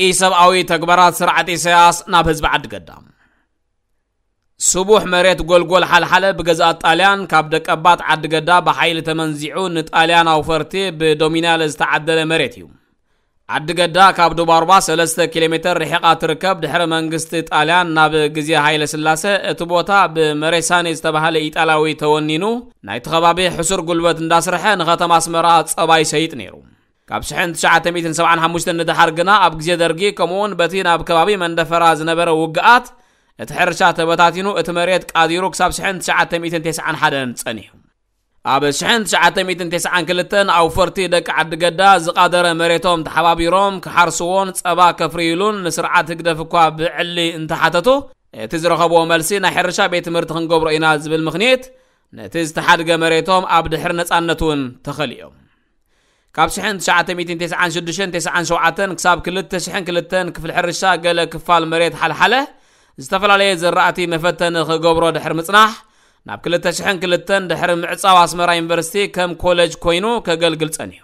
ኢሰብኣዊ ተግባራት ስርዓት ኢሳያስ ናብ ህዝቢ ዓዲ ገዳ። ስቡሕ መሬት ጎልጎል ሓልሓለ ብገዛእት ጣልያን ካብ ደቀባት ዓዲ ገዳ ብሓይሊ ተመንዚዑ ንጣልያን ኣውፈርቲ ብዶሚናል ዝተዓደለ መሬት እዩ። ዓዲ ገዳ ካብ ዱባርባ ሰለስተ ኪሎ ሜትር ርሒቓ ትርከብ። ድሕሪ መንግስቲ ጣልያን ናብ ግዜ ሃይለ ስላሰ እቲ ቦታ ብመሬሳኒ ዝተባህለ ኢጣልያዊ ተወኒኑ ናይቲ ከባቢ ሕሱር ጉልበት እንዳስርሐ ንከተማ ኣስመራ ጸባ ይሰይጥ ነይሩ። ካብ ሽሕን ትሽዓተ ሚእትን ሰብዓን ሓሙሽተን ንደሓር ግና ኣብ ግዜ ደርጊ ከምኡውን በቲ ናብ ከባቢ መንደፈራ ዝነበረ ውግኣት እቲ ሕርሻ ተበታቲኑ እቲ መሬት ቃዲሩ ክሳብ ሽሕን ትሽዓተ ሚእትን ተስዓን ሓደን ጸኒሑ። ኣብ ሽሕን ትሽዓተ ሚእትን ተስዓን ክልተን ኣውፈርቲ ደቂ ዓዲ ገዳ ዝቓደረ መሬቶም ተሓባቢሮም ክሓርስዎን ጸባ ከፍርይሉን ንስርዓት ህግደፍ እኳ ብዕሊ እንተሓተቱ እቲ ዝረኸብዎ መልሲ ናይ ሕርሻ ቤት ትምህርቲ ክንገብሮ ኢና ዝብል ምኽንያት ነቲ ዝተሓድገ መሬቶም ኣብ ድሕሪ ነጻነት እውን ተኸሊኦም። ካብ ሽሕን ትሽዓተ ሚእትን ተስዓን ሽዱሽተን ተስዓን ሸውዓተን ክሳብ ክልተ ሽሕን ክልተን ክፍሊ ሕርሻ ገለ ክፋል መሬት ሓልሓለ ዝተፈላለየ ዘራእቲ መፈተኒ ክገብሮ ድሕሪ ምጽናሕ ናብ ክልተ ሽሕን ክልተን ድሕሪ ምዕጻው ኣስመራ ዩኒቨርሲቲ ከም ኮሌጅ ኮይኑ ከገልግል ጸኒሑ።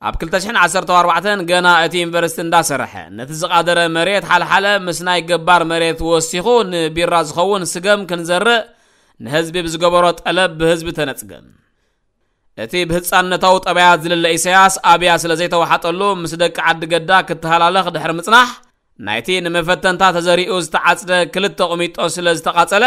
ኣብ ክልተ ሽሕን ዓሰርተ ኣርባዕተን ገና እቲ ዩኒቨርሲቲ እንዳሰርሐ ነቲ ዝቓደረ መሬት ሓልሓለ ምስ ናይ ገባር መሬት ወሲኹ ንቢራ ዝኸውን ስገም ክንዘርእ ንህዝቢ ብዝገበሮ ጠለብ ብህዝቢ ተነጽገ። እቲ ብህጻንነታዊ ጠባያት ዝልለ ኢሳያስ ኣብያ ስለ ዘይተዋሓጠሉ ምስ ደቂ ዓዲ ገዳ ክተሃላለኽ ድሕሪ ምጽናሕ ናይቲ ንመፈተንታ ተዘሪኡ ዝተዓጽደ ክልተ ቁሚጦ ስለ ዝተቓጸለ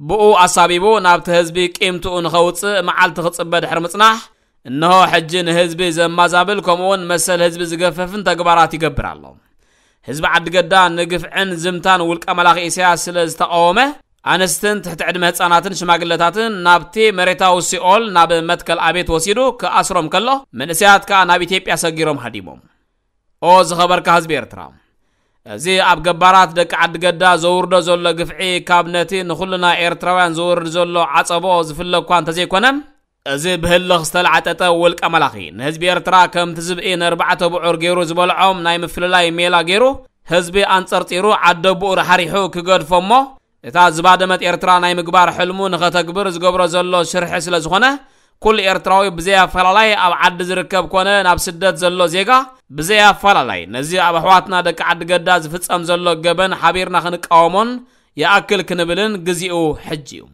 ብኡ ኣሳቢቡ ናብቲ ህዝቢ ቂምትኡ ንኸውጽእ መዓልቲ ክጽበ ድሕሪ ምጽናሕ እንሆ ሕጂ ንህዝቢ ዘማዛብል ከምኡውን መሰል ህዝቢ ዝገፈፍን ተግባራት ይገብር ኣሎ። ህዝቢ ዓዲ ገዳ ንግፍዕን ዝምታን ውልቀ መላኺ ኢሳያስ ስለ ዝተቃወመ ኣንስትን ትሕቲ ዕድመ ህጻናትን ሽማግለታትን ናብቲ መሬታዊ ሲኦል ናብ መትከል ኣቤት ወሲዱ ክኣስሮም ከሎ መንእሰያት ከኣ ናብ ኢትዮጵያ ሰጊሮም ሃዲሞም። ኦ ዝኸበርካ ህዝቢ ኤርትራ፣ እዚ ኣብ ገባራት ደቂ ዓዲ ገዳ ዘውርዶ ዘሎ ግፍዒ ካብ ነቲ ንኹልና ኤርትራውያን ዘውርድ ዘሎ ዓጸቦ ዝፍለ እኳ እንተዘይኮነ እዚ ብህልኽ ዝተላዕጠጠ ውልቀ መላኺ ንህዝቢ ኤርትራ ከምቲ ዝብኢ ነርባዕተ ብዑር ገይሩ ዝበልዖም ናይ ምፍልላይ ሜላ ገይሩ ህዝቢ ኣንጸርጺሩ ዓደቦኡ ራሕሪሑ ክገድፎ እሞ እታ ዝባደመት ኤርትራ ናይ ምግባር ሕልሙ ንኸተግብር ዝገብሮ ዘሎ ሽርሒ ስለ ዝኾነ ኩሉ ኤርትራዊ ብዘይ ኣፈላላይ ኣብ ዓዲ ዝርከብ ኮነ ናብ ስደት ዘሎ ዜጋ ብዘይ ኣፈላላይ ነዚ ኣብ ኣሕዋትና ደቂ ዓዲ ገዳ ዝፍጸም ዘሎ ገበን ሓቢርና ክንቃወሞን ይኣክል ክንብልን ግዜኡ ሕጂ እዩ።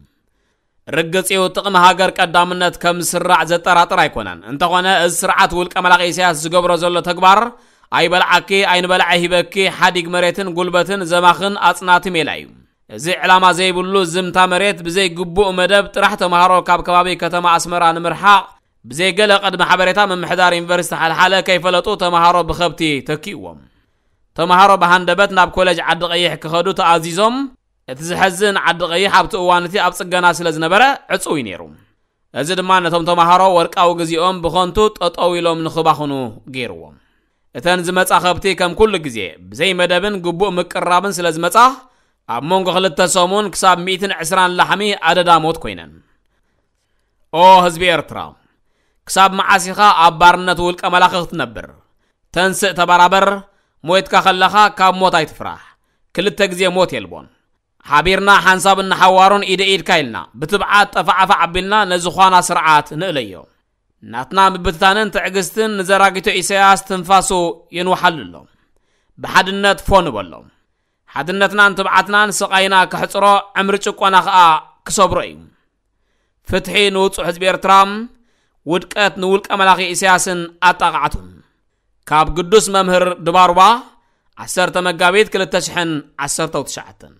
ርግጽ እዩ ጥቕሚ ሃገር ቀዳምነት ከም ዝስራዕ ዘጠራጥር ኣይኮነን። እንተኾነ እዚ ስርዓት ውልቀ መላኺ ኢሳያስ ዝገብሮ ዘሎ ተግባር ኣይበልዓኪ ኣይንበልዐ ሂበኪ ሓዲግ መሬትን ጉልበትን ዘማኽን ኣጽናቲ ሜላ እዩ። እዚ ዕላማ ዘይብሉ ዝምታ መሬት ብዘይ ግቡእ መደብ ጥራሕ ተምሃሮ ካብ ከባቢ ከተማ ኣስመራ ንምርሓቕ ብዘይ ገለ ቅድመ ሓበሬታ ምምሕዳር ዩኒቨርሲቲ ሓልሓለ ከይፈለጡ ተምሃሮ ብኸብቲ ተኪእዎም። ተምሃሮ ብሃንደበት ናብ ኮሌጅ ዓዲ ቀይሕ ክኸዱ ተኣዚዞም። እቲ ዝሐዝን ዓዲ ቀይሕ ኣብቲ እዋን እቲ ኣብ ጽገና ስለ ዝነበረ ዕጹው እዩ ነይሩ። እዚ ድማ ነቶም ተምሃሮ ወርቃዊ ግዜኦም ብኸንቱ ጠጠው ኢሎም ንኽባኽኑ ገይርዎም። እተን ዝመጻ ከብቲ ከም ኩሉ ግዜ ብዘይ መደብን ግቡእ ምቅርራብን ስለ ዝመጻ ኣብ መንጎ ክልተ ሰሙን ክሳብ ሚእትን ዕስራን ላሕሚ ኣደዳ ሞት ኮይነን። ኦ ህዝቢ ኤርትራ፣ ክሳብ መዓስ ኢኻ ኣብ ባርነት ውልቀ መላኺ ክትነብር? ተንስእ ተበራበር፣ ሞይትካ ከለኻ ካብ ሞት ኣይትፍራሕ። ክልተ ግዜ ሞት የልቦን። ሓቢርና ሓንሳብ እናሓዋሩን ኢደ ኢድካ ኢልና ብትብዓት ጠፋዕፋዕ ኣቢልና ነዚ ዃና ስርዓት ንእለዮ። ናትና ምብትታንን ትዕግስትን ንዘራጊቶ ኢሳያስ ትንፋሱ የንውሓሉ ኣሎ። ብሓድነት ፎ ንበሎ። ሓድነትናን ትብዓትናን ስቓይና ከሕጽሮ ዕምሪ ጭቆና ኸኣ ክሰብሮ እዩ። ፍትሒ ንውጹዕ ህዝቢ ኤርትራ፣ ውድቀት ንውልቀ መላኺ ኢሳያስን ኣጣቓዕቱን። ካብ ግዱስ መምህር ድባርባ ዓሰርተ መጋቢት ክልተ ሽሕን ዓሰርተው ትሽዓተን።